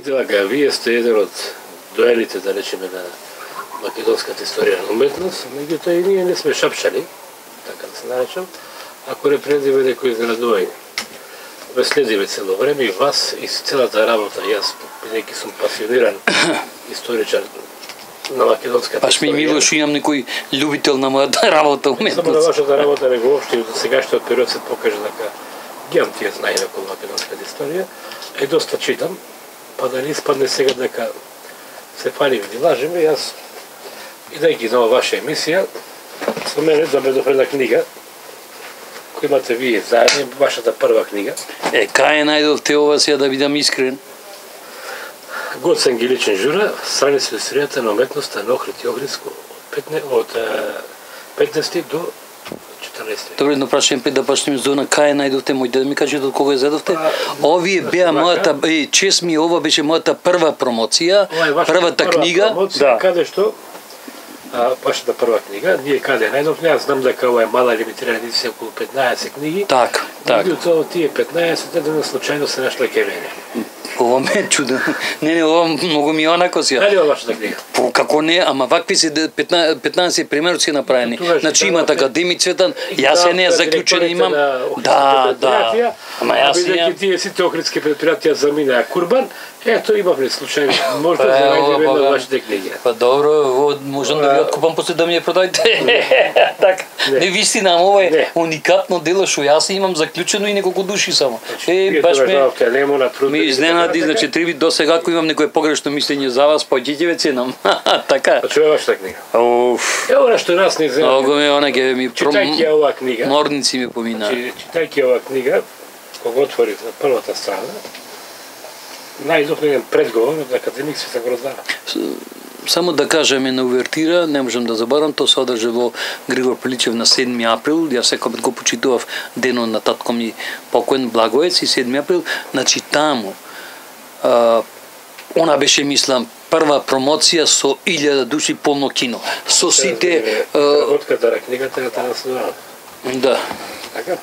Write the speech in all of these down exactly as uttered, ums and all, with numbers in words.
Видите, вака, вие сте еден од доените, да речеме, на македонската историја на уметност, меѓутоа и ние не сме шапшали, така да се наречам, ако не предиме некои изненадување. Ве следиме цело време и вас и целата работа, јас, бидејќи сум пасиониран историчар на македонската Паш ми мило што имам некој љубител на мојата работа уметност. Само на вашата работа не го општи, до сегашниот период се покажа дека ги имам тие знаења околу македонската историја, е доста читам, па да не испадне сега дека се фалиме и лажеме, јас, идејќи на ваша емисија, со мене доведов една книга, која имате вие заедно, вашата прва книга. Е, кај најдовте ова сега да бидам искрен? Гоцен Гиличен Жура, страници од историјата на уметноста на Охрид и Охридско од петнаесети до четрнаесети. Добре, едно прашање пред да почнеме зона, кај најдовте, мој да ми кажете од кога ја зедовте? Овие беа мојата, е, чест ми, ова беше мојата прва промоција, првата книга. Да. Каде што, вашата прва книга, ние каде најдовме, аз знам дека ова е мала лимитирана едиција, околу петнаесет книги. Так, так. Меѓутоа тие петнаесет еден случајно се нашле кај мене. Ова ме е чудо. Не, не, ова многу ми онако си. Дали ова вашата книга? По, како не, ама вакви се петнаесет примероци направени. Значи имат академик Цветан, јас се не заклучен имам. Да, да. Ама јас имам. Тие сите охридски предпријатија заминаа Курбан, ето имавме случајно. Може да најдеме една од вашите книги. Па добро, можам да ви откупам после да ми ја продајте. Така. Не вистина, ама ова е уникатно дело што јас имам заклучено и неколку души само. Е, баш ме ми изненади, значи три до сега ако имам некое погрешно мислење за вас, поđите ве ценам. Така. А чуе вашата книга? Оф. Е, ова што нас не знае. Ого ме она ќе ми читајќи ова книга. Морници ми помина. Читајќи ова книга, кога отворив на првата страна, најдов еден предговор од академик Цветан Грозданов. Само да кажеме на увертира, не можам да забарам, тоа се одржа во Григор Пиличев на седми април, јас секогаш го почитував денот на татко ми покоен Благоец и седми април, значи таму а, она беше, мислам, прва промоција со илјада души полно кино. Со сите преработката на книгата е транслирана. Да. Така?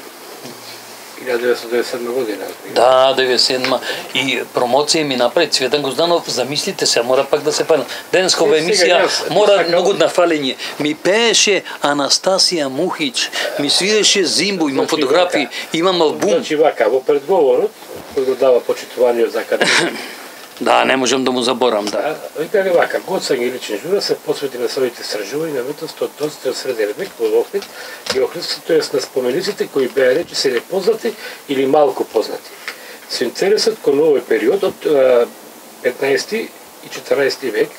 илјада деветстотини деветдесет и седма година. Да, деветдесет и седма. И промоција ми направи Цветан Грозданов, замислите се, мора пак да се палам. Денеска ова емисија мора многу на фалење. Ми пееше Анастасија Мухич, ми свиреше Зимбо, имам фотографии, имам албум. Значи вака, во предговорот, кој го дава почитување за академик. Да, не можам да му заборам, да. Викале вака, Гоцен Гиличен Жура се посвети на своите истражувања на уметност од доста среден век во Охрид и Охридско, тоест на спомениците кои беа речи се непознати или малку познати. Со интересот кон овој период од петнаесети и четрнаесети век,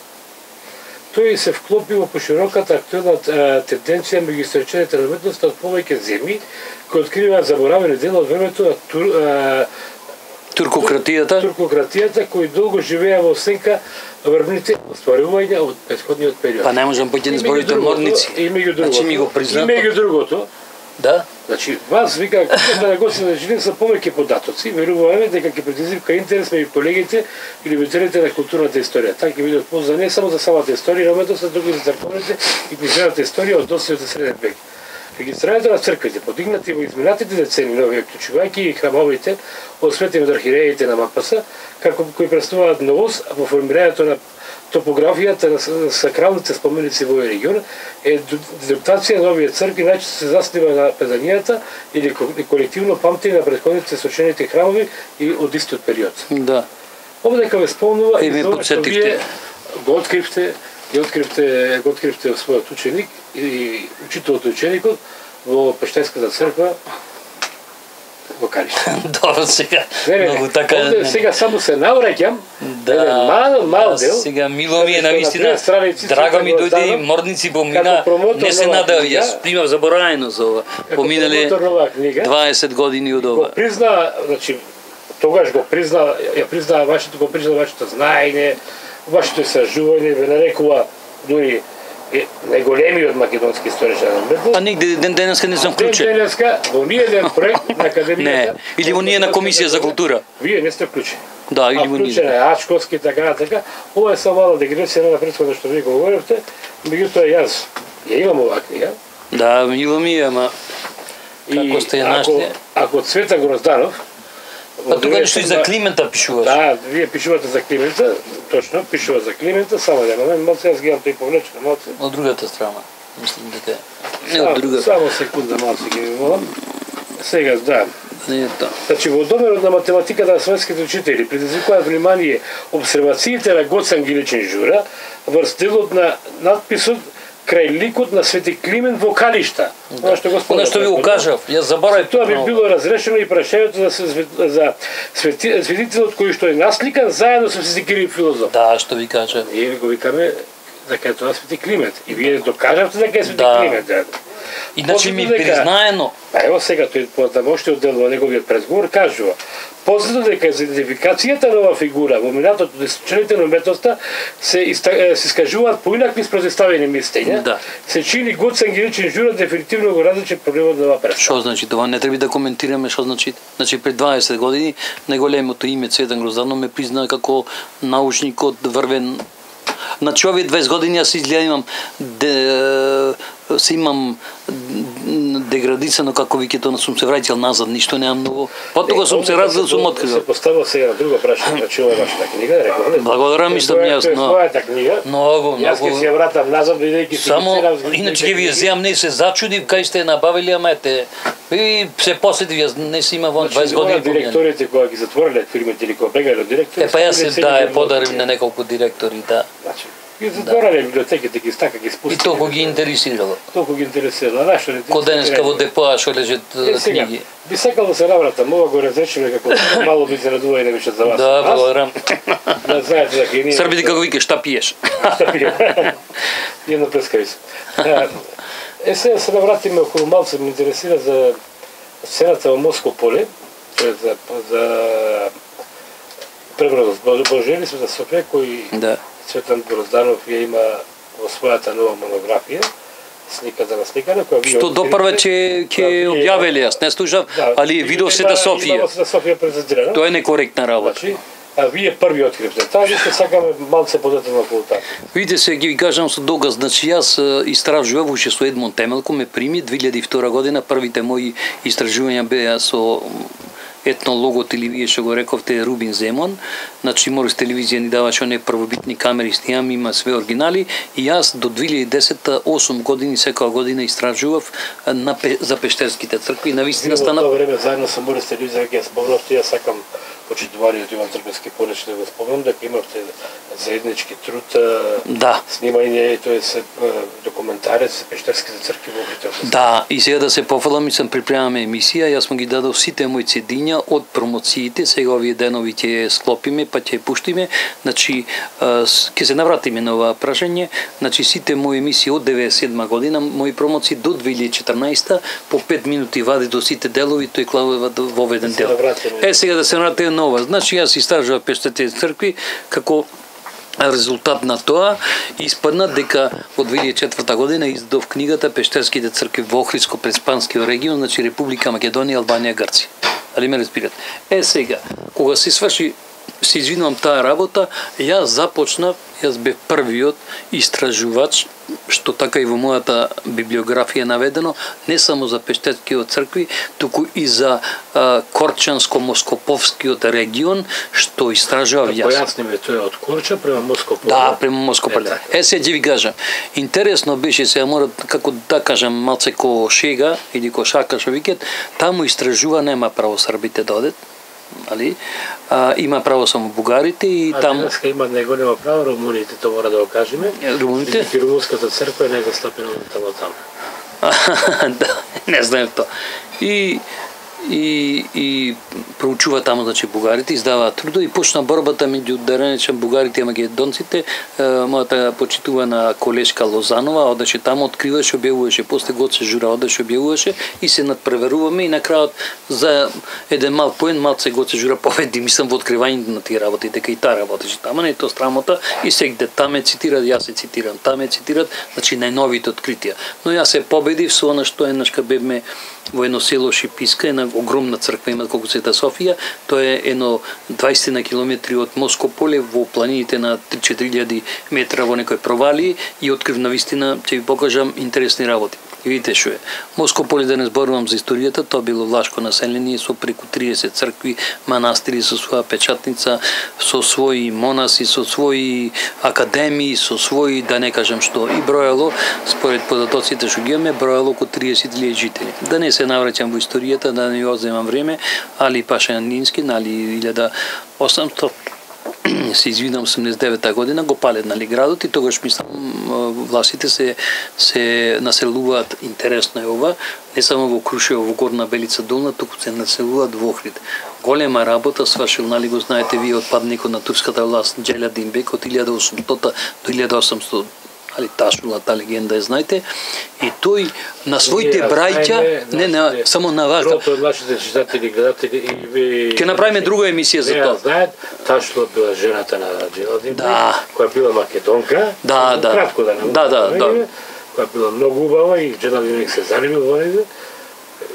тој се вклопи во пошироката актуелна тенденција меѓу историчарите на уметноста од повеќе земји кои откриваат заборавени дела од времето на тур, а, Туркократијата? Туркократијата, кои долго живеа во сенка врвните остварувања од претходниот период. Па не можам поќе да зборите морници. И меѓу другото. Значи ми го признат. И меѓу другото. Да. Значи вас вика книгата на Гоцен Жилин со повеќе податоци, веруваме дека ќе предизвика интерес меѓу колегите и любителите на културната историја. Така ќе бидат полза не само за самата историја на уметноста, туку и за црковните и книжевната историја од достојот среден век. Регистрирањето на црквите, подигнати во изминатите децени нови, вклучувајќи и храмовите од светите од архиереите на МПС, како кои представуваат новост во формирањето на топографијата на сакралните споменици во овој регион, е дезруптација на овие цркви најчесто се заснива на преданијата или колективно памтење на претходните сочените храмови и од истиот период. Да. Овдека ве спомнува и тоа што вие го откривте, и откривте, го откривте во својот ученик и учителот ученикот во Пештајската црква во Кариште. Добро, сега. Не, не, многу така. Овде сега само се навраќам. Да. Еден мал мал дел. Сега мило ми е навистина. Драго ми дојде и морници помина. Не се надев, јас примав забораено за ова. Поминале дваесет години од ова. Го призна, значи тогаш го призна, ја призна вашето, го призна вашето знаење, вашето истражување, ве нарекува дури најголемиот македонски историчар на уметност. А нигде ден денеска не сум вклучен. Ден денеска во ние еден проект на академијата. Не, или во ние на комисија за култура. Вие не сте вклучени. Да, или во ние. Вклучен е Ачковски, така на така. Ова е само мала дегресија на претходно што вие го говоревте. Меѓутоа јас ја имам оваа книга. Да, мило ми е, ама како сте ја нашли? Ако Цветан Грозданов Па тука што и за Климента пишуваш. Да, вие пишувате за Климента, точно, пишува за Климента, само да момент, малце јас ги имам тој повлечено малце. Од другата страна. Мислам дека не од другата. Само секунда малце ги ви молам. Сега, да. Не е тоа. Значи, во домерот на математиката на светските учители предизвикуваат внимание обсервациите на Гоце Ангеличен Жура врз делот на надписот крај ликот на Свети Климент во Калишта. Она што го Она што ви го кажав, јас заборавив. Тоа би било разрешено и прашањето за за свети, светителот кој што е насликан заедно со Свети Кирил филозоф. Да, што ви кажа. И го викаме дека е тоа Свети Климент. И вие докажавте дека е Свети да. Климент. Да. Иначе ми признаено. А ево сега тој потамоште дел во неговиот предговор кажува: познато дека за идентификацијата на оваа фигура во минатото десетилетие на уметноста се се искажуваат поинакви спротивставени мислења. Да. Се чини Гоце Ангеличен Жура дефинитивно го различи проблемот на оваа представа. Што значи тоа? Не треба да коментираме што значи. Значи пред дваесет години најголемото име Цветан Грозданов ме призна како научникот врвен. Значи овие дваесет години јас изгледа имам де, се имам деградисано како викето, сум се враќал назад, ништо немам многу. Потоа сум се развил, сум открил. Се поставил сега на друго прашање, значи ова е вашата книга, реков. Благодарам, мислам јас, но твојата книга. Многу, многу. Јас ќе се вратам назад бидејќи само иначе ќе ви ја земам, не се зачудив кај сте набавили, ама ете и се посетив, јас не си има вон дваесет години. Директорите кога ги затвориле фирмите или кога бегале директори. Е па јас се да е подарив на неколку директори, да. Значи ги затворале библиотеките, ги стака, ги спустиле. И толку ги интересирало. Толку ги интересирало. Нашо не. Ко денеска во депоа што лежат книги. Би сакал да се навратам, ова го разречеме како мало би зарадува и не беше за вас. Да, благодарам. Да знаете дека и ние. Србите како викаш, шта пиеш? Шта пиеш? Едно прескавица. Е сега се навратиме околу малце, ме интересира за сцената во Моско поле, за за преврат Божели сме за Софија кој да. Цветан Грозданов ја има во својата нова монографија, сликата на сликана, која што допрва ќе ќе објавиле, јас не слушав, да, али видов се да Софија. Да Софија презентирано. Тоа е некоректна работа. Значи, а вие први откривте. Таа висте сакаме малце подетено околу таа. Видите се, ги ви кажам со доказ, значи јас истражував уште со Едмон Темелко, ме прими две илјади и втора година, првите мои истражувања беа со етнологот или вие што го рековте Рубин Земон, значи Морис телевизија ни даваше оние првобитни камери, снимам, има све оригинали и јас до две илјади и десета осум години секоја година истражував на за пештерските цркви, навистина стана. Во тоа време заедно со Морис телевизија ќе спомнавте, јас сакам почитувањето Иван Трбевски понече да го спомнам дека имавте заеднички труд, да, снимање, тоест документарец за пештерските цркви во Битовски. Да, и сега да се пофалам, мислам припремаме емисија, јас му ги дадов сите мои цедиња од промоциите, сега овие денови ќе склопиме, па ќе пуштиме, значи ќе се навратиме на ова прашање, значи сите мои емисии од деветдесет и седма година, мои промоции до две илјади и четрнаесета, по пет минути вади до сите делови, тој клавува во еден дел. Е, сега да се навратиме нова. Значи јас истражував пештерските цркви како резултат на тоа испадна дека во две илјади и четврта година издадов книгата Пештерските цркви во Охридско-Преспанскиот регион, значи Република Македонија, Албанија, Грција. Али ме разбирате? Е сега, кога се сврши, се извинувам таа работа, јас започнав, јас бев првиот истражувач, што така и во мојата библиографија наведено, не само за Пештерскиот цркви, туку и за Корчанско-Москоповскиот регион, што истражував јас. Појасниме, тоа е од Корча према Москополе. Да, према Москополе. Е, се ќе ви кажам, интересно беше, сега мора, како да кажам, малце ко шега, или ко шака што викет, таму истражува, нема право србите да одат, али, а, има право само бугарите и а, таму... А денеска има него нема право, румуните, тоа мора да го кажеме. Румуните? И румунската црква е негостапена таму таму. Да, не знаем тоа. И и и проучува таму, значи бугарите издаваат трудови и почна борбата меѓу да речем бугарите и македонците. Мојата почитувана колешка Лозанова одеше таму, откриваше, објавуваше, после Гоце Жура одеше, објавуваше и се надпреверуваме и на крајот за еден мал поен малце Гоце Жура победи, мислам во откривањето на тие работи, дека и таа работеше таму, не е тоа срамота и сегде таме цитираат, јас се цитирам, таме цитираат, значи најновите откритија. Но јас се победив со она што еднашка бевме во едно село Шиписка, една огромна црква има колку Света Софија, тоа е едно дваесет на километри од Москополе во планините на три-четири илјади метра во некој провали и открив навистина, ќе ви покажам интересни работи. И видите што е. Моско Поле, да не зборувам за историјата, тоа било влашко население со преку триесет цркви, манастири со своја печатница, со своји монаси, со своји академии, со своји, да не кажам што, и броело, според податоците што ги имаме, броело околу триесет илјади жители. Да не се навраќам во историјата, да не одземам време, Али Пашанински, нали, илјада осамстотини се извинам, осумдесет и девета година го палет, нали, градот, и тогаш мислам властите се се населуваат. Интересно е ова, не само во Крушево, во Горна Белица долна, туку се населуваат во Охрид. Голема работа свршил, нали, го знаете вие, отпадникот на турската власт Джелядин Бек од илјада и осумстотина до илјада и осамстотина, али ташула, та легенда ја знаете, и тој на своите браќа, не, не, само на вас. Прото од нашите читатели, гледатели и ви... Ќе направиме друга емисија за тоа. Не знаат, ташула била жената на Джелядин Бек, да, која била македонка, да, да, кратко да не да, да, да, која била многу убава и Джелядин Бек се занимил во нега.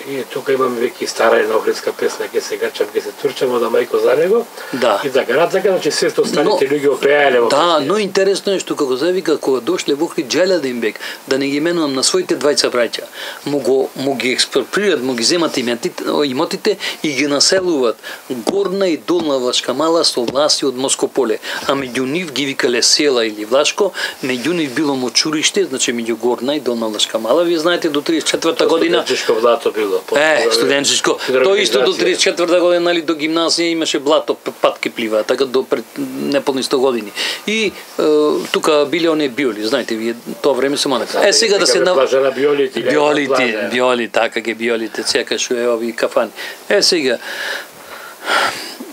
И тука имаме веќе стара една охридска песна, ќе се гачам, ќе се турчам од мајко за него. Да. И така натака, значи се што останите луѓе опеале во. Да, но интересно е што како завика кога дошле во Охрид Джелядин Бек, да не ги менувам на своите двајца браќа, му го му ги експроприират, му ги земат имотите и ги населуваат Горна и Долна Влашка мала со власти од Моско Поле. А меѓу нив ги викале села или Влашко, меѓу нив било мочуриште, значи меѓу Горна и Долна Влашка мала. Вие знаете до триесет и четврта година Студенческо блато било. Е, студенческо. Тоа исто до триесет и четврта година, нали, до гимназија имаше блато, патки плива, така до пред неполни сто години. И е, тука биле оние биоли, знаете вие, тоа време се мана. Е, сега да се на биолите, биолите, биоли, така ке биолите, секаш е ови кафани. Е, сега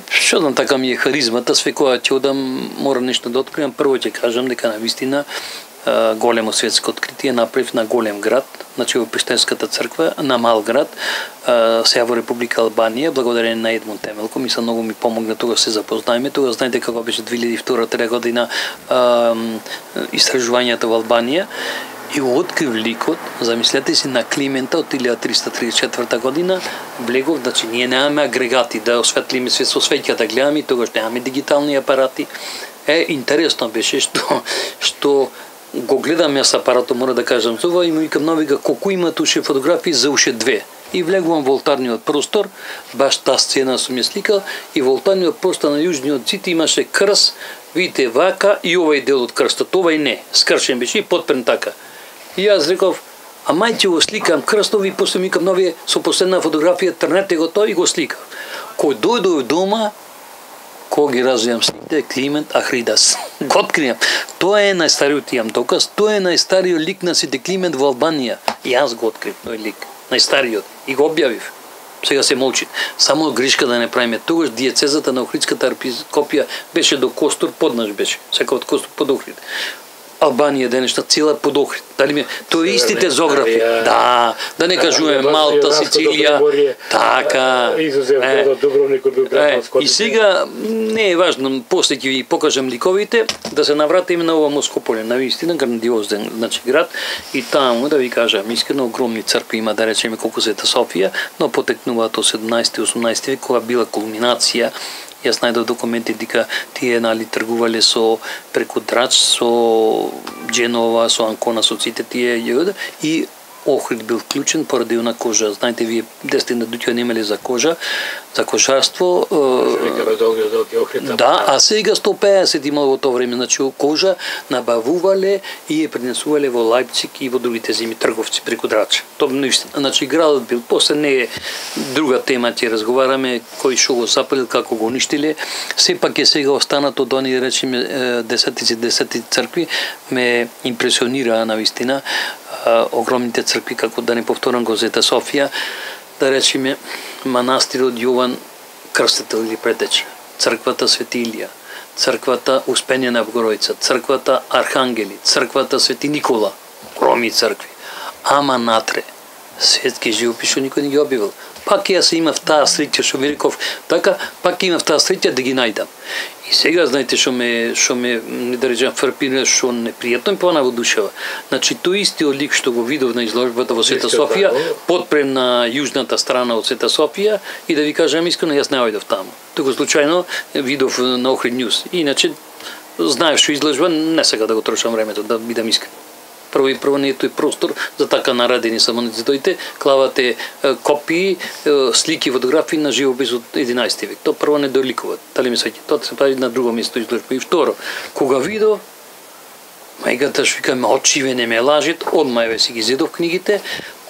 што знам, така ми е харизмата, све кога ќе одам, мора нешто да откриам. Прво ќе кажам дека на вистина големо светско откритие направив на голем град, значи во Пештерската црква, на мал град, сега во Република Албанија, благодарение на Едмон Темелко, мисля многу ми помогна тога се запознаеме. Тога знаете како беше две илјади и втора година истражувањата во Албанија. И открив ликот, замислете си, на Климента од илјада триста триесет и четврта година, влегов, значи ние немаме агрегати да осветлиме свет со свеќа да гледаме, тогаш немаме дигитални апарати. Е, интересно беше што што го гледам јас апаратот, мора да кажам за ова, и му викам новига колку има туше фотографии, за уште две. И влегувам во олтарниот простор, баш таа сцена сум ја сликал, и во олтарниот простор на јужниот зид имаше крст, видите вака и овај дел од крстот, овај не, скршен беше и подпрен така. И јас реков, а мај ќе го сликам крстов, и после ми викам новие со последна фотографија, трнете го тоа и го сликав. Кој дојдов дома, кога ги развијам сликите, Климент Ахридас. Го откријам. Тоа е најстариот, имам доказ, тоа е најстариот лик на сите Климент во Албанија. И јас го открив тој лик, најстариот, и го објавив. Сега се молчи. Само грешка да не правиме. Тогаш диецезата на Охридската архиепископија беше до Костур, поднаш беше. Сека од Костур под Охрид. Албанија денешна цела под Охрид. Дали ми тоа истите зографи. Да, да не кажуваме Малта, Сицилија. Така. И сега не е важно, после ќе ви покажам ликовите, да се навратиме на ова Моско Поле, на вистина грандиозен, значи град, и таму да ви кажам искрено, огромни цркви има, да речеме колку Света Софија, но потекнуваат од седумнаесети и осумнаесети век, кога била кулминација. Јас најдов документи дека тие, нали, тргувале со преку Драч, со Дженова, со Анкона, со сите тие, и Охрид бил вклучен поради она кожа. Знаете, вие десетина дуќа немале за кожа, за кожарство. Да, а сега сто песет имало во тоа време, значи кожа набавувале и ја пренесувале во Лајпциг и во другите земи трговци преку Драч. Тоа наистина, значи градот бил, после не е друга тема, ќе разговараме кој што го запалил, како го уништиле. Сепак е сега останато од они, речеме, десетици десети цркви, ме импресионира на вистина. Огромните цркви, како да не повторам го Света Софија, да речеме манастирот Јован Крстител или Претеч, црквата Свети Илија, црквата Успение на Богородица, црквата Архангели, црквата Свети Никола, огромни цркви. Ама натре, светски живопис што никој не ги објавил. Пак јас имав таа среќа, што ми реков, така, пак имав таа среќа да ги најдам. И сега, знаете, што ме, што ме, не да речам, фрпира, што непријатно ми пона во душева. Значи, тој истиот лик што го видов на изложбата во Света Софија, подпрем на јужната страна од Света Софија, и да ви кажам искрено, јас не ојдов таму. Туку случајно видов на Охрид Ньюс. Иначе, знаев што изложба, не сега да го трошам времето, да бидам искрен. Прво и прво не е тој простор за така наредени самонизидоите, клавате е, копии, е, слики, фотографии на живопис од единаесети век. Тоа прво не доликува. Дали ми свеќа? Тоа се прави на друго место изложба. И второ, кога видо мајката што вика ме очиве не ме лажет, одма еве си ги зедов книгите.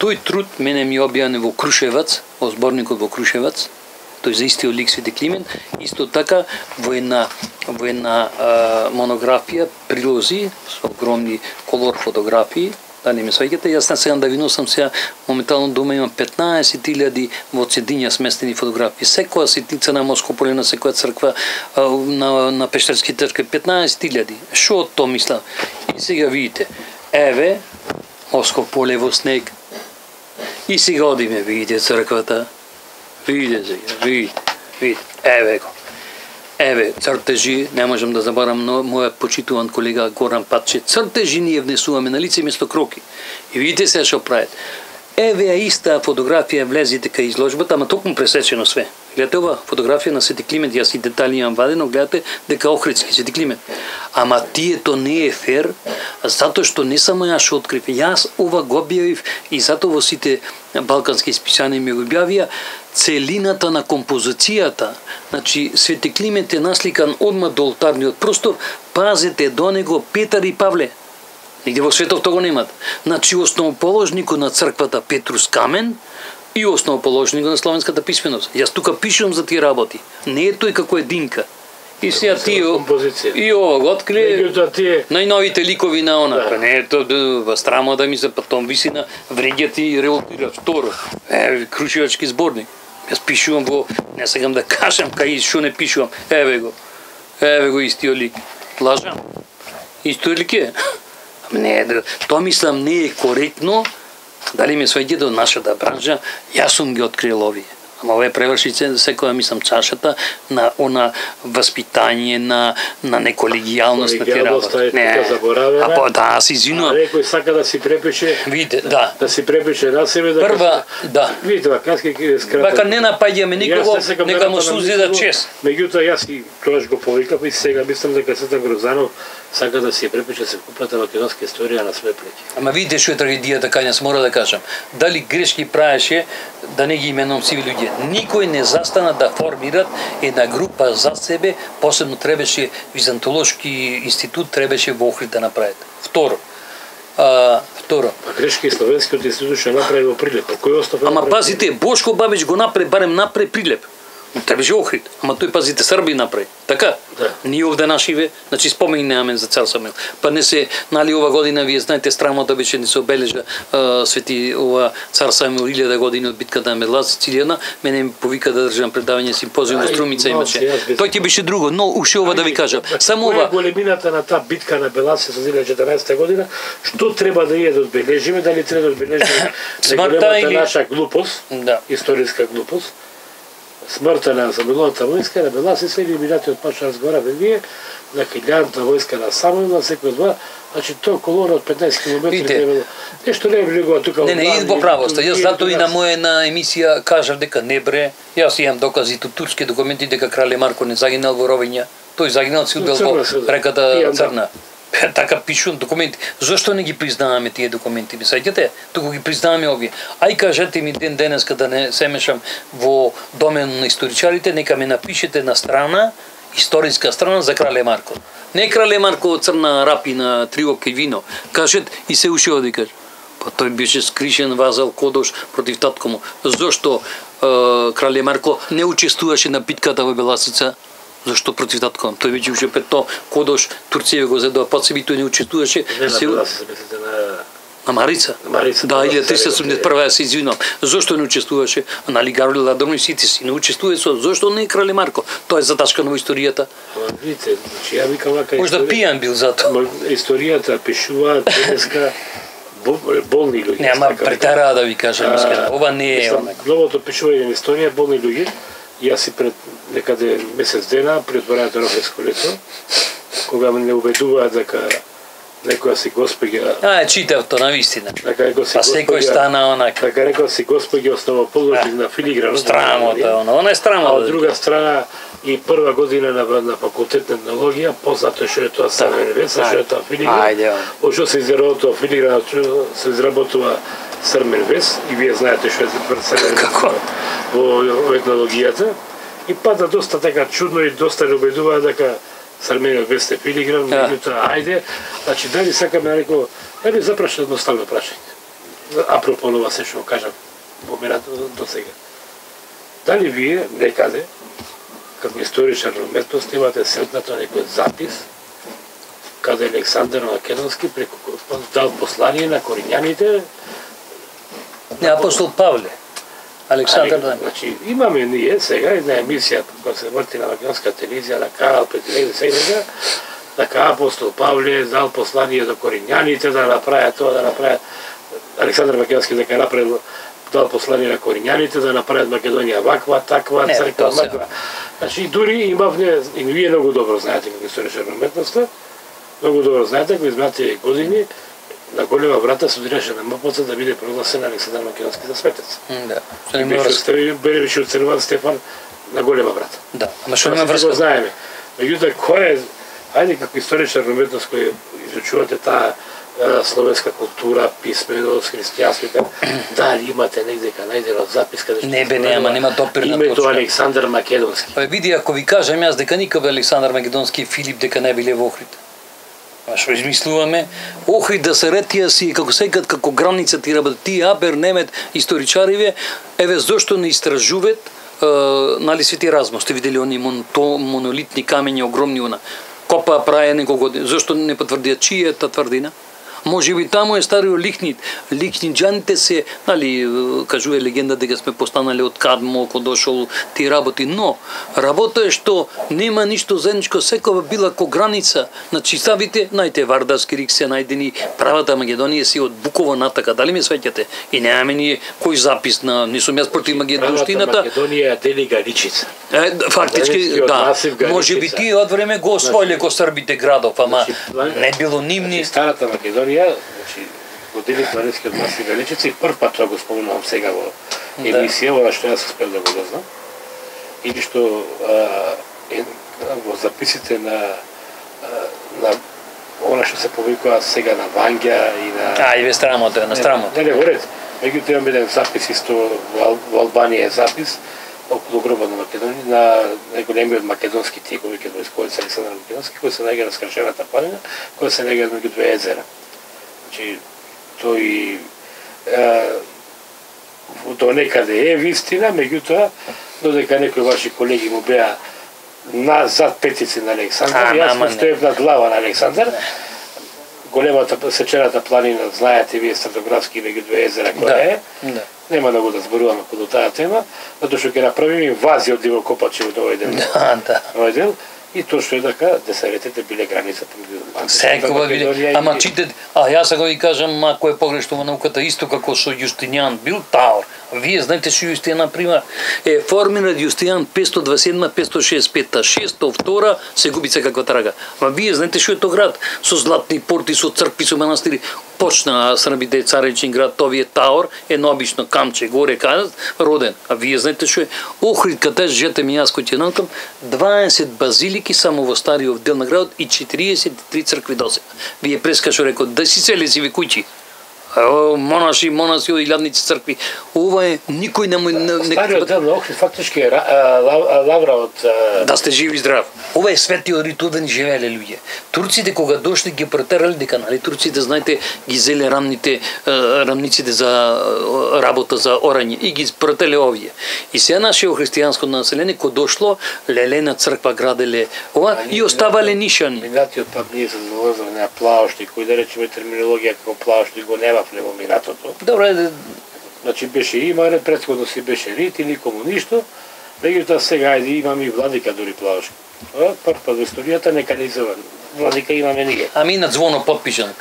Тој труд мене ми објавен во Крушевац, во зборникот во Крушевац. Тој за истиот лик Свети Климент, исто така во една во една а, монографија прилози со огромни колор фотографии. Дали ме сваќате? Јас не сега да ви носам сега моментално дома имам петнаесет илјади во цедиња сместени фотографии. Секоја ситница на Моско поле, на секоја црква, на на Пештерски цркви петнаесет илјади. Што од тоа мислам? И сега видите, еве Моско поле во снег. И сега одиме, видите црквата. Видите сега, видите, видите. Еве го. Еве, цртежи, не можам да забарам но мојот почитуван колега Горан Патче, цртежи ние внесуваме на лице место кроки. И видите се што прават. Еве ја иста фотографија влезите кај изложбата, ама токму пресечено све. Гледате ова фотографија на Свети Климент, јас и детали имам вадено, гледате дека Охридски Свети Климент. Ама тието не е фер, затоа што не само јас што открив, јас ова го објавив и затоа во сите балкански списани ми го објавија целината на композицијата. Значи Свети Климент е насликан одма до олтарниот простор, пазете до него Петар и Павле. Нигде во светот тоа го немат. Значи основоположникот на црквата Петрус Камен и основоположникот на славенската писменост. Јас тука пишувам за тие работи. Не е тој како единка. И сега тие и ова го открие најновите ликови на она. Да. Не е тоа страма да ми се потом виси на вреѓат и револтира. Второ, е Крушевачки зборник. Јас пишувам во, не сакам да кажам кај што не пишувам. Еве го. Еве го истиот лик. Лажам. Истиот лик е. Не, тоа мислам не е коректно. Дали ме сваѓа до нашата бранжа, јас сум ги открил овие. Ама овие преврши секоја мислам чашата на она воспитање, на на неколегијалност на тие работи. Не, заборавена. А па да, се извинувам. Некој сака да си препише. Видите, да. Да си препише на себе да. Прва, да. Видите, вака ќе скратам. Вака не напаѓаме никого, нека му сузи да чест. Меѓутоа јас и тогаш го повикав и сега мислам дека Светан Грозанов сака да си препише секупната македонска историја на свој плеќи. Ама видите што е трагедијата кај нас, мора да кажам. Дали грешки правеше, да не ги именувам сиви луѓе. Никој не застана да формират една група за себе, посебно требаше Византолошки институт требаше во Охрид да направат. Второ. А, второ. А грешки Словенскиот институт што направи во Прилеп. Кој остав? Ама пазите, Бошко Бабич го направи, барем направи Прилеп. Требаше Охрид, ама тој пазите Срби направи. Така? Да. Ние овде нашиве, значи спомени немаме за цар Самуил. Па не се, нали ова година вие знаете страмата беше не се обележа а, свети ова цар Самуил илјада години од битката на Медлас Сицилијана, мене ми повика да држам предавање симпозиум во Струмица имаше. Тој ти беше друго, но уште ова да ви кажам. Само ова. Големината на таа битка на Беласе со илјада четрнаесетта година, што треба да ја да одбележиме, дали треба да одбележиме големата или... наша глупост, да. Историска глупост. Смртта на Самуиловата војска на Беласе се елиминатиот почна разговаравме вие на хилјадната војска на Самуил, на секој два, значи тоа колона од петнаесет километри треба нешто не е влегува тука. Не, не, иди во правоста. Јас затоа и на моја на емисија кажав дека не бре. Јас имам докази од турски документи дека крале Марко не загинал во ровиња. Тој загинал си удел во реката Црна. Така пишувам документи. Зошто не ги признаваме тие документи? Ви сеќате? Туку ги признаваме овие. Ај кажете ми ден денеска да не се мешам во домен на историчарите, нека ме напишете на страна, историска страна за крале Марко. Не крале Марко Црна рапи на три опки вино. Кажет и се уши оди каже. Па тој беше скришен вазал кодош против татко му. Зошто е, крале Марко не учествуваше на битката во Беласица? Зашто против татко? Тој веќе уште петто кодош Турција го зедоа под себе, тој не учествуваше. Не, се... на се мислите на на Марица. На Марица. Да, илјада триста седумдесет и прва се извинувам. Зошто не учествуваше? Нали Гароле Ладорно и сите си не учествува со. Зошто не крале Марко? Тоа е затачкано во историјата. Видите, значи ја викам вака. Можда пијан бил затоа. Историјата пишуваат денеска болни луѓе. Не, ама претера да ви кажам искрено. Ова не е онака. Новото пишување на историја болни луѓе. Јас си пред некаде месец дена пред отворањето на Охридско лето, кога ме не убедуваат дека некоја си госпоѓа. А, читав тоа навистина. Дека некој си па секој стана онака. Дека некој си госпоѓа основоположник на филигранот. Страмота, она, она е страмота. А од друга страна и прва година на, на факултет на етнологија, познато што е тоа Срмен вес, што е тоа филигран. Ошо се изработува тоа филигран, се изработува Срмен вес и вие знаете што е Срмен вес во етнологијата. И пада доста така чудно и доста не убедува дека Срмен вес е филигран, меѓутоа ајде, значи дали сакаме да реко, дали запрашам едноставно прашање. Апропо ова се што кажам поминато до сега. Дали вие некаде како историчар на уметност имате сретнато некој запис каде Александар Македонски преку дал послание на коринјаните? Не, апостол Павле. Александар да. Значи, имаме ние сега една емисија која се врти на македонска телевизија на Карал Петреле сега, дека апостол Павле дал послание до коринјаните да направат тоа, да направат Александар Македонски дека направил дал послание на коринјаните да направат Македонија ваква, таква, црква, маква. Значи, дури имавне, и вие многу добро знаете како историчар на уметноста, многу добро знаете, ако изминатите години, на голема врата се одираше на МПЦ да биде прогласен Александар Македонски за светец. Да. И беше беше оценуван Стефан на голема врата. Да, ама што нема врска. Го знаеме. Меѓутоа, кој е, ајде како историчар на уметност кој изучувате таа словенска култура, писменост, христијанство, дали имате негде ка најдено запис каде што не бе, нема, нема допирна точка. Името точка. Александар Македонски. Па види, ако ви кажам јас дека никога Александар Македонски и Филип дека не биле во Охрид. А што измислуваме? Охрид да се ретија си, како секад, како граница ти работи, тие Абер, Немет, историчариве, еве зошто не истражуват, е, нали Свети Размо, сте видели они мон, то, монолитни камења огромни она, копа праја неколку години, зошто не потврдија чија е та тврдина? Може би таму е стариот Лихнит. Лихниджаните се, нали, кажува легенда дека сме постанали од Кадмо, кога дошол ти работи, но работа е што нема ништо заедничко, секава била ко граница. Значи, ставите, најте Вардарски рик се најдени, правата Македонија си од Буково натака, дали ме свеќате? И немаме ние кој запис на, не сум јас против Македонштината. Македонија дели Галичица. Е, фактички, да, може би тие од време го освоиле ко србите градов, ама не било нивни. Старата Македонија, значи, го дели Планинскиот масив Галичица и прв пат тоа го спомнувам сега во емисија, во што јас успев да го дознам. Или што е, во записите на на она што се повикува сега на Вангја и на А, и ве страмото, на страмото. Не, не, во ред. Меѓутоа имам еден запис исто во, во Албанија е запис околу гробот на Македонија, на најголемиот македонски тик, веќе војсковец Александар Македонски, кој се најга на скршената планина, кој се најга меѓу две езера. Значи, тој е, до некаде е вистина, меѓутоа, додека некои ваши колеги му беа назад петици на Александар, јас му стоев на глава на Александар, големата сечената планина, знаете вие стратографски меѓу две езера која е, да. Нема да го да зборуваме околу таа тема, затоа што ќе направиме инвазија од дивокопачи во овој дел. Да, да. Овој дел. И тоа што е дека десаретите биле граница помеѓу секогаш биле. Ама чите, а јас сега ви кажам, ако е погрешно во науката, исто како со Јустинијан бил Таор. Вие знаете што Јустинијан пример е формиран Јустинијан петстотини дваесет и седма петстотини шеесет и пета, шесто втора се губи се каква трага. Ма вие знаете што е тој град со златни порти, со цркви, со манастири. Почна србите царичен град, тоа е Таор, едно обично камче горе кажат, роден. А вие знаете што е Охрид, каде жете ми јас кој ќе наукам, дваесет базилики само во стариот дел на градот и четириесет и три цркви досега. Вие прескашо рекол, да си сели си ви куќи. Монаши, монаси, илјадници цркви. Ова е никој не му... Стариот дел на Охрид фактички е лавра од... Да сте живи и здрав. Ова е светиот ритул да ни живееле луѓе. Турците кога дошли ги претерали дека, нали, турците, знаете, ги зеле рамните, рамниците за работа за орање и ги претерале овие. И сега нашето христијанско население кога дошло, лелена црква граделе ова и оставале нишани. Минатиот пат ние се залазаме на плаошти, кој да речеме терминологија како плаошти го нема во минатото. Добре, значи беше имале, претходно си беше рит или комуништо, меѓутоа сега ајде имаме и владика дури плаошки. Прв пат во историјата нека не изован. Владика имаме ние. Ами на звоно подпишан.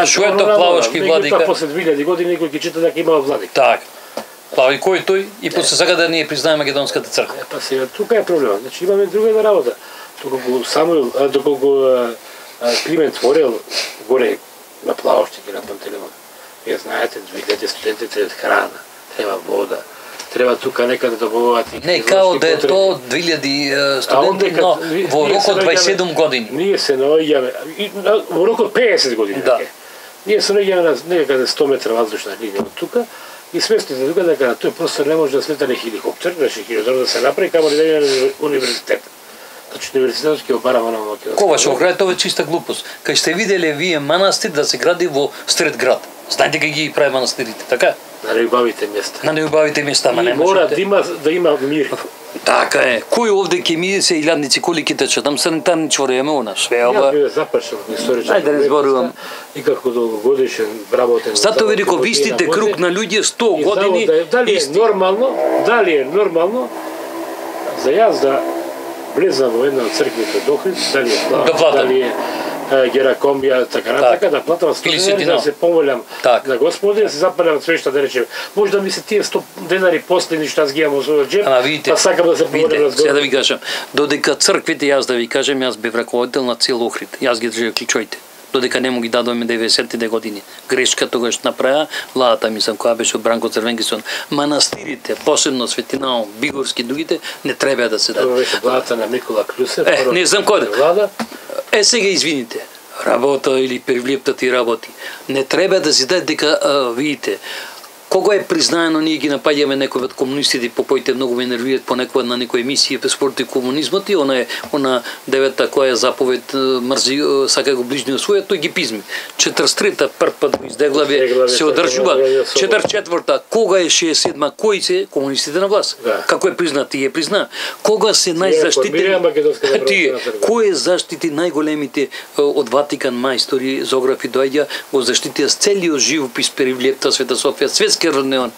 Што е тоа плаошки владика? Меѓутоа после две илјади години некој ќе чита дека имал владика. Так. Плави кој тој и после сака да ние признаеме македонската црква. Па сега тука е проблемот. Значи имаме друга една работа. Доколку Самуил, доколку Климент Творел горе на плаошти на Пантелеймон. Вие знаете, видите студентите треба храна, треба вода, треба тука некаде да добавуваат. Не, као да е то две илјади студенти, но во рокот дваесет и седум години. Ние се наоѓаме во рокот пеесет години. Да. Ние се наоѓаме на некаде сто метра воздушна линија од тука и сместите тука дека на тој простор не може да слета ни хеликоптер, беше хеликоптер да се направи, камо ли да на универзитет. Значи универзитетот ќе обарава на Македонија. Кога што гради тоа е чиста глупост. Кај сте виделе вие манастир да се гради во сред град. Знаете кај ги прави манастирите, така? На неубавите места. На неубавите места, ма не мора можете. да има да има мир. Така е. Кој овде ќе ми се илјадници колики тече, там санитарни чвореме она, све ова. Ја бе запашен исторички. Ајде да не зборувам. И како долгогодишен работен. Зато ви реков, ви сте круг на луѓе сто години. Да, дали е нормално, дали е нормално за јас да влезам во една од црквите до Охрид, дали е плата, дали е Геракомија, така натака, да платам сто денари, да се помолам на Господи, да се запалям свешта, да речем. Може да ми се тие сто денари последни што аз ги имам во својот джеб, па сакам да се помолам на Сега да ви кажам, додека црквите, јас да ви кажам, јас бев раководител на цел Охрид. Јас ги држав клучоите. Додека не му ги дадоме деветдесетите години. Грешка тогаш направа владата, мислам, која беше од Бранко Црвенкисон. Манастирите, посебно Светинао, Бигорски, другите, не треба да се дадат. Тоа беше владата на Никола Клюсев. Е, не знам кој влада. Е, сега извините. Работа или привлепта ти работи. Не треба да се даде дека, а, видите, кога е признаено, ние ги напаѓаме некои од комунистите, по коите многу ме нервираат понекогаш на некои емисии спорти комунизмот и она е она девета која е заповед мрзи сака го ближниот свој, тој ги пизми. четридесет и трета прв пат го издеглаве се одржува. четридесет и четврта кога е шеесет и седма кои се комунистите на власт. Да. Како е признат, тие призна. Кога се најзаштитени тие, кој е заштити најголемите од Ватикан мајстори, зографи доаѓа, го заштитија целиот живопис Перивлепта, Света Софија, светски роднеон.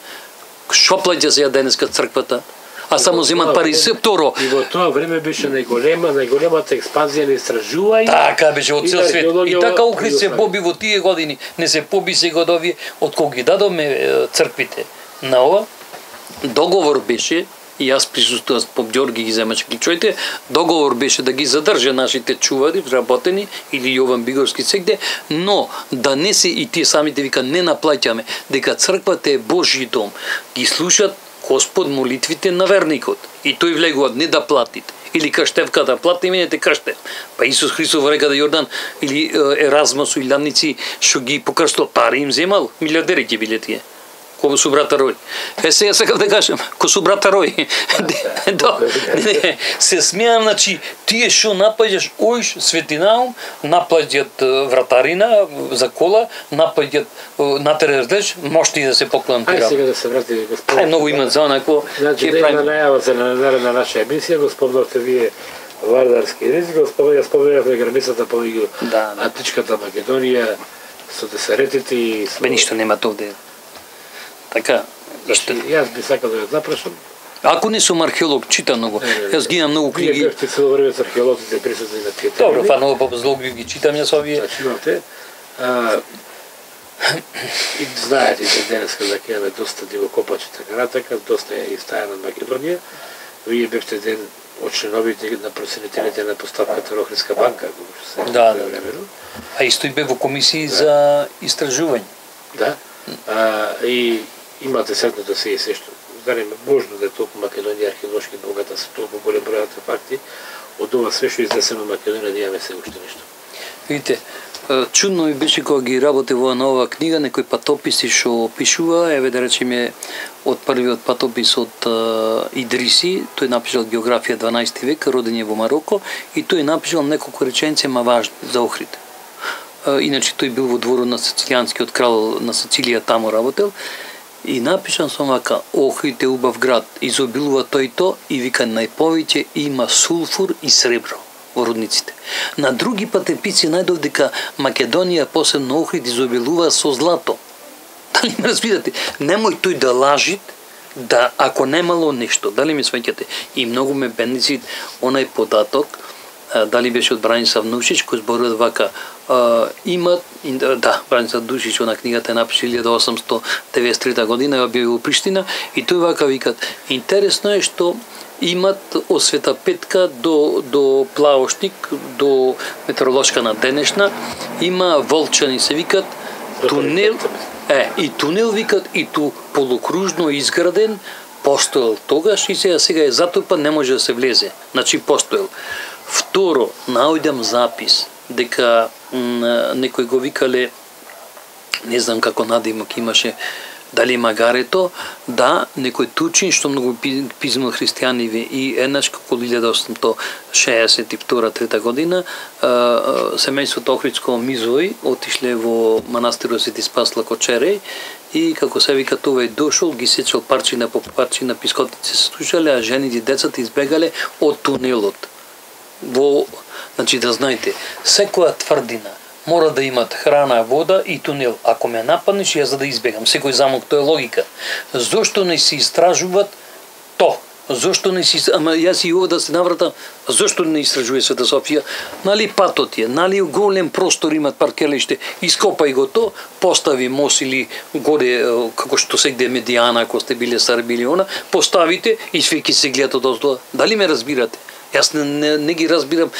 Шо плаќа се ја денеска црквата? А само земат пари се второ. И во тоа време беше најголема, најголемата експанзија на истражување. Така беше од цел свет. И така Охрид се поби во тие години, не се поби сега од овие од кога ги дадоме црквите. На ова договор беше, и јас присуствував, поп Ѓорги ги земаше клучоите, договор беше да ги задржа нашите чувари, вработени, или Јован Бигорски сегде, но да не се, и тие самите вика, не наплаќаме, дека црквата е Божји дом. Ги слушат Господ молитвите на верникот. И тој влегуваат не да платите. Или Каштевка да плати, именете Каштев. Па Исус Христос во реката Јордан, или Еразма со илјадници, што ги покрстил, пари им земал, милиардери ќе биле тие. Ко су брата Рој. Е, сега сакам да кажам, ко су брата Рој. Се смеам, значи, тие што напаѓаш Оиш, Светинаум, напаѓат вратарина за кола, напаѓат натереш, можете и да се поклонам ти работа. Ај сега да се врати, господин. Ај, многу имат за онако. Значи, да има најава за наредна наша емисија, господовте вие вардарски език, господа, ја споменавме границата помеѓу Античката Македонија, со десаретите и... Бе, ништо нема овде. Така, зашто јас би сакал да ја запрашам. Ако не сум археолог, читам многу. Јас ги имам многу книги. Вие бевте цело време со археолозите присутни на тие теми. Добро, па многу по-злог ги читам јас овие. Значи имате. И знаете че денеска дека имаме доста дивокопачи така натака, доста е и стаја на Македонија. Вие бевте ден од членовите на проценителите на поставката на Охридска банка, што се да, времено. А исто и бе во комисии за истражување. Да. А, и имате сретното се и се што дали можно да е толку Македонија археолошки богата, се толку голем број артефакти, од ова све што изнесено Македонија да имаме се уште нешто. Видите, чудно ми беше кога ги работи во нова книга, некои патописи што пишува, еве да речеме од првиот патопис од Идриси, тој напишал географија дванаести век, роден е во Мароко, и тој напишал неколку реченици ма важни за Охрид. Иначе тој бил во дворот на Сицилијанскиот крал на Сицилија, таму работел, и напишан сум вака: Охрид е убав град, изобилува тој то, и вика најповеќе има сулфур и сребро во рудниците. На други патепици најдов дека Македонија, посебно Охрид, изобилува со злато. Дали ме разбирате? Немој тој да лажит, да ако немало нешто, дали ме сваќате? И многу ме бенецит онај податок, дали беше од Бранислав Нушич, кој зборува вака: Uh, имат, да, Бранислав Душич, она книгата е напиша илјада осамстотини деветдесет и трета година, ја бил во Приштина, и тој вака викат: интересно е што имат од Света Петка до, до Плаошник, до метеоролошка на денешна, има Волчани се викат, тунел, е, и тунел викат, и ту полукружно изграден, постоел тогаш и сега сега е затопа, не може да се влезе. Значи постоел. Второ, наоѓам запис дека некој го викале, не знам како надимок имаше, дали Магарето, да, некој Тучин, што многу писмо христијаниви и еднаш како илјада осумстотини шеесет и втора трета година, семејството Охридско Мизој отишле во манастирот Свети Спас Лакочереј и како се вика тој дошол, ги сечал парчина по парчина, пискотици се слушале, а жените и децата избегале од тунелот. Во, значи да знаете, секоја тврдина мора да имат храна, вода и тунел. Ако ме нападнеш, ја за да избегам. Секој замок, тоа е логика. Зошто не се истражуваат то? Зошто не се, ама јас и ова да се навратам, зошто не истражува Света Софија? Нали патот е, нали голем простор имат паркелиште, ископај го то, постави мост или горе, како што сегде Медијана, ако сте биле Сарби или она, поставите и све ќе се гледат од оздоа. Дали ме разбирате? Јас не, не, не ги разбирам,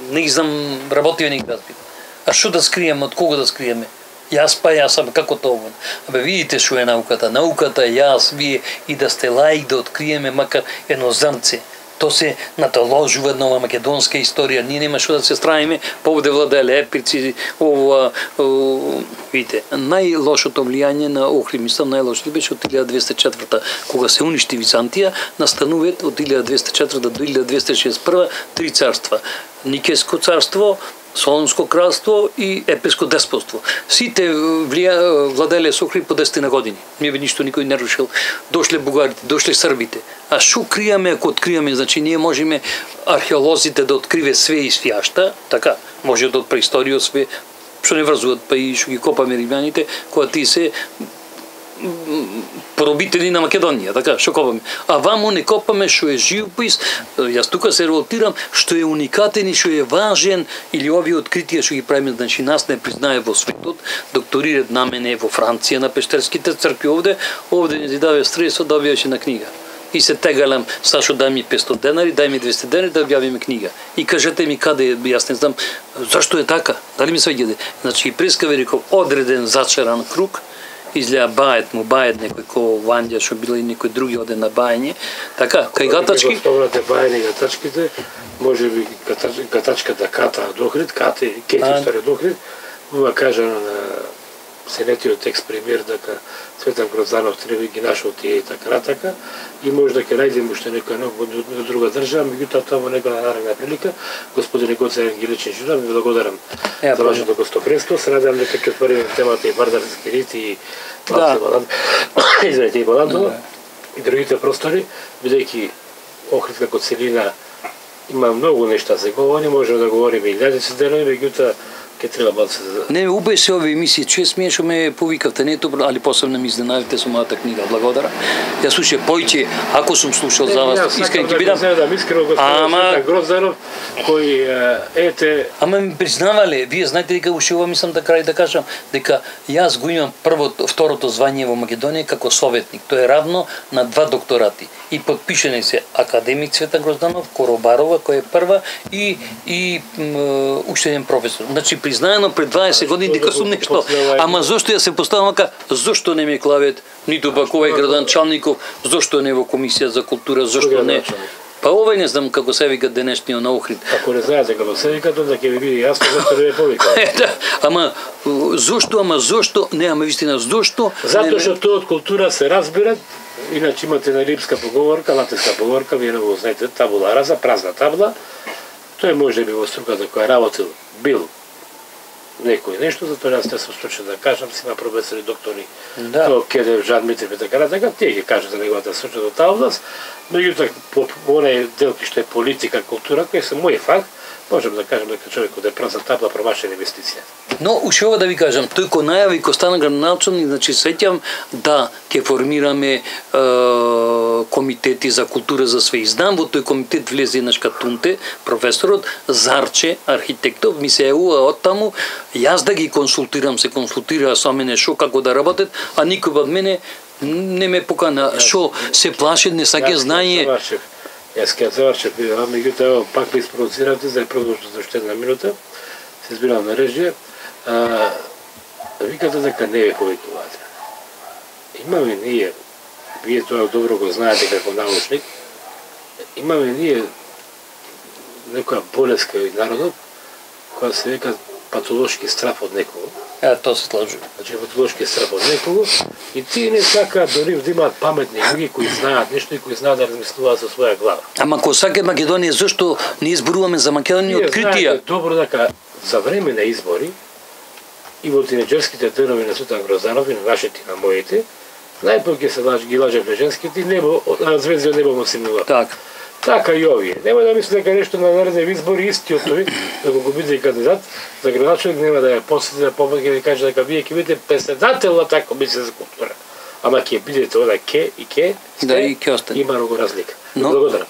не ги знам, работио не ги разбирам. А што да скриеме, од кого да скриеме? Јас па јас, абе како тоа? Абе видите што е науката. Науката, јас, вие и да сте лаик да откриеме макар едно зрнце. То се натоложува нова македонска историја. Ние нема што да се стравиме, поводе владеле епирци, ова, видите, најлошото влијање на Охрид, мислам најлошото беше од илјада двеста и четврта, кога се уништи Византија, настануваат од илјада двеста и четврта до илјада двеста и шеесет и прва три царства. Никеско царство, Солонско кралство и Епеско деспотство. Сите влија, владеле со Охрид по десет години. Не би ништо никој не рушил. Дошле бугарите, дошле србите. А што криеме ако откриеме? Значи ние можеме археолозите да откриве све и свјашта, така, може да од преисторија све, што не врзуваат, па и што ги копаме римјаните, кога ти се поробители на Македонија, така, што копаме. А вамо не копаме што е живопис, јас тука се револтирам, што е уникатен и што е важен, или овие откритија што ги правиме, значи нас не признае во светот, докторират на мене во Франција на пештерските цркви овде, овде не ти даве средство да објавиш на книга. И се тегалам, Сашо дај ми петстотини денари, дај ми двесте денари да објавиме книга. И кажете ми каде, јас не знам, зашто е така, дали ми свеѓаде. Значи, прескаве реков, одреден зачаран круг, излеа бајет му, бајет некој ко Ванѓа, што било и некој други оде на бајање. Така, кај гатачки... Спомнате бајани гатачките, може би гатачката Ката од Охрид, Кате, Кети историја од Охрид, ова кажано на сенетиот текст премиер дека Цветан Грозданов треба ги нашол тие и така натака, и може да ќе најдем уште некој нов од друга држава, меѓутоа тоа во некоја наредна прилика. Господине Гоце Ангеличен Жудан, ви благодарам за вашето гостоприемство. Се надевам дека ќе отвориме темата и Вардарски рит и извинете и Баландова и другите простори, бидејќи Охрид како целина има многу нешта за говори, можеме да говориме и илјадици денови, меѓутоа ке треба да се... Не, убеше овие емисии, чест ми е што ме повикавте, не тоа, али посебно ми изненадите со мојата книга, благодарам. Ја слушај, појќе, ако сум слушал за вас, искрен ќе бидам... Не, искрено господин Грозданов, кој ете... Ама ми признавале, вие знаете дека уште ова мислам да крај да кажам, дека јас го имам првото, второто звание во Македонија како советник. Тоа е равно на два докторати. И подпишени се академик Цветан Грозданов, Коробарова, која е прва, и, и уште еден професор. Значи, признаено пред дваесет години дека сум нешто. Ама зошто ја се поставам ка, зошто не ме клавет, ниту пак овај градоначалников, зошто не во комисија за култура, зошто не... Па овај не знам како се вика денешниот на Охрид. Ако не знаете како се вика, тоа ќе ви биде јасно зошто не ме повика. Ама зошто, ама зошто, не, ама вистина, зошто... Затоа што тоа од култура се разбират, иначе имате на римска поговорка, латинска поговорка, вие не го знаете, табула раза, празна табла. Тој може би во струката која работил, бил некој нешто, затоа јас не сум случен да кажам, си има професори, доктори, да. Тоа Кедев, Жан Митрев и така натака, тие ги кажат за неговата случка до таа област, меѓутоа по онај дел што е политика, култура, кој се мој факт, можем да кажем дека човекот е празна табла, промашена инвестиција. Но уште ова да ви кажам, тој кој најави кој стана градоначалник, значи сеќам да ќе формираме е, комитети за култура за све. И знам во тој комитет влезе еднаш Катунте, професорот Зарче, архитектов, ми се еуа од таму, јас да ги консултирам, се консултираа со мене шо како да работат, а никој од мене не ме покана, шо се плашат, не саќе знае. Јас ке завршев, а меѓутоа пак ме испровоциравте за продолжи за уште една минута. Се избирам на режија. Викате дека не е повикувате. Имаме ние вие тоа добро го знаете како научник, имаме ние некоја болест кај народот, која се века патолошки страв од некого. Е, тоа се слажу. Значи патолошки страв од некого и тие не сакаат дори да имаат паметни луѓе кои знаат нешто и кои знаат да размислуваат со своја глава. Ама кога сака Македонија, зашто не изборуваме за Македонија откритија? Знаете добро дека за време на избори и во тинеџерските денови на Светан Грозданов и на вашите и на моите, најпој ќе се лаж, ги лажевме женските, небо, звезди од небо му симнува. Така. Така и овие. Нема да мисли дека нешто на наредни избори истиот тој, да го биде кандидат за градоначелник, нема да ја посети да помогне да каже дека вие ќе бидете председател на таа комисија за култура. Ама ќе бидете ода ке и ке, да, и ќе остане. Има многу разлика. Но, благодарам.